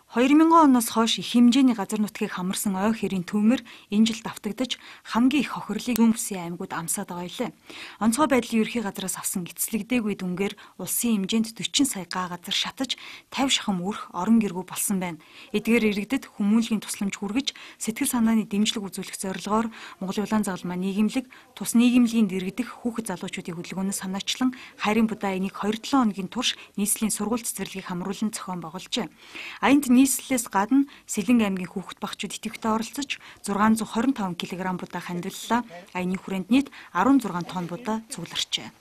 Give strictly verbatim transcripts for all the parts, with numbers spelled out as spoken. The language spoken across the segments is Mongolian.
хоёр мянган оноос хойш их хэмжээний газар нутгийг хамарсан ой хэрийн төмөр энэ жил давтагдаж хамгийн их хохирлыг зүүн бүсийн аймагуд амсаад байгаа илээ. Онцгой байдлын ерхий газраас авсан эцэслэгдээгүй дүнгээр улсын хэмжээнд дөрвөн сая га газар шатаж пятьдесят шахам өрх орон гэргүй болсон байна. Эдгээр иргэдэд хүмүүнлэгийн тусламж хүргэж сэтгэл санааны дэмжлэг үзүүлэх зорилгоор Монголын улаан загалмаа нийгэмлэг тус нийгэмлэгийн дэргэдэх хүүхэд залуучуудын хөдөлгөөнөөс санаачлан Хайрын будаа энийг хоёр долоо хоногийн турш нийслэлийн сургууль цэцэрлэгийг хамруулан зохион байгуулжээ. Аянд нийслэлээс гадна Сэлэнг аймгийн хүүхэд багчууд идэвхтэй оролцож зургаан зуун хорин таван килограмм будаа хандваллаа. Аяны хүрээнд нийт арван зургаан тонн будаа цугларчээ.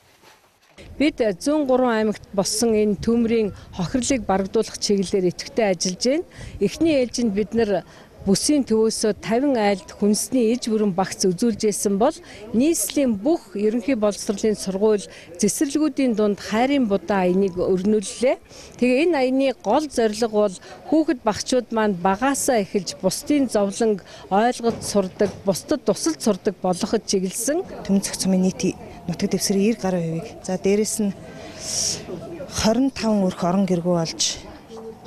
Бид зүүн гурван аймагт болсон энэ төмрийн хохирлыг барагдуулах чиглэлээр идэвхтэй ажиллаж байна. Эхний ээлжинд бид нар бүсийн төвөөсөө тавин айлд хүнсний иж бүрэн багц үзүүлж байсан бол нийслэлийн бүх ерөнхий боловсролын сургууль цэцэрлэгүүдийн дунд хайрын будаа аяныг өрнүүллээ. Тэгээ энэ аяны гол зорилго бол хүүхэд багчууд маань багаасаа эхэлж бусдын зовлонг ойлгож сурдаг, бусдад тусалж сурдаг болгоход чиглэсэн. Төмцөх цомын нийт нутаг дэвсгэрийн девяносто гаруй хувийг. За дээрэс нь хорин таван өрх орон гэргүй болж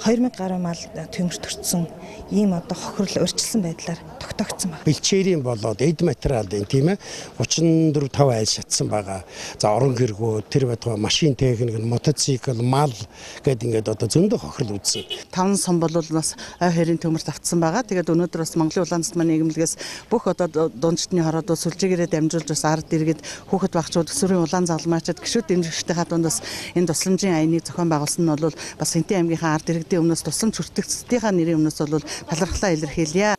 хоёр мянга гаруй мал төмөрт төрсөн ийм одоо хохирол өрчлсөн байдлаар тогтоогдсон байна. Бэлчээрийн болоод эд материалын тийм ээ тридцать четыре таван айл шатсан байгаа. За орон гэргүү тэр байтугай машин техник, мотоцикл, мал гэдэг ингээд одоо зөндөө хохирол үүссэн. Таван сум бол бас ой хэрийн төмөрт автсан байгаа. Тэгээд өнөөдөр бас Монголын улаан загалмаа нийгэмлэгээс бүх одоо дундчдны хороод сүлжээгээрээ дамжуулж бас ард иргэд хүүхэд багчууд өсвөрийн улаан загалмаачид гişүүд дэмжигчдийн дунд бас энэ тусламжийн аяныг зохион байгуулсан нь бол бас Энтэн аймгийнхаа ард иргэдийн өмнөөс тусламж хүртэгчдийн нэрийн өмнөөс бол талархлаа илэрхийлье.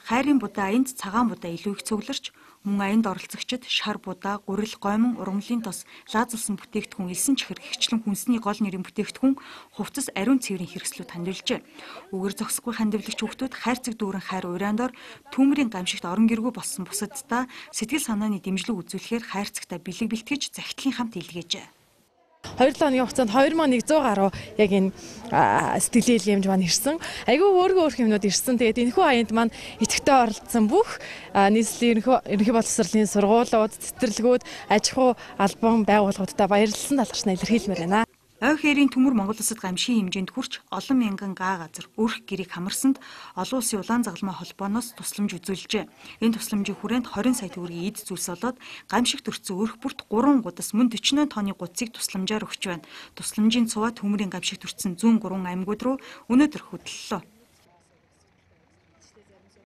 Хайрын будаа аянд цагаан будаа илүү их цугларч мөн аянд оролцогчид шар будаа, гурил, гомон, ургамлын тос, лаазалсан бүтээгдэхүүн, элсэн чихэр гихчлэн хүнсний гол нэрийн бүтээгдэхүүн, хувцас, ариун цэврийн хэрэгслүүд хандвилжээ. Үгээр зогсохгүй хандивлагч хүүхдүүд хайрцаг дүүрэн хайр ураандор төмрийн гамшигт орон гэргүй болсон бусаддаа сэтгэл санааны дэмжлэг үзүүлэхээр хайрцагтаа бэлэг бэлтгэж захидлын хамт илгээжээ. хоёр хоногийн хугацаанд хоёр тысяч нэг зуун гаруй яг энэ сэтгэлийн илгээмж маань ирсэн. Айгүй өөргөө өөр юмнууд ирсэн. Тэгээд энэхүү аянд маань идэвхтэй оролцсон бүх нийслэлийн ерөнхий боловсролын сургуулиуд, цэцэрлэгүүд, аж ахуй албан байгууллагуудад баярлалсан талархнаа илэрхийлмээр байна. Ой хэрийн төмөр Монгол улсад гамшигын хэмжээнд хүрч олон мянган га газар өрх гэрийг хамарсанд олон улсын улаан загалмаа холбооноос тусламж үзүүлжээ. Энэ тусламжийн хүрээнд двадцать сая төгрөгийн эд зүйлс болоод гамшиг төрсөн өрх бүрт гурван гудас мөн forty тонны гудсыг тусламжаар өгч байна. Тусламжийн цуваа төмрийн гамшиг төрсэн зүүн гурван аймагуд руу өнөөдөр хөтлөлөө.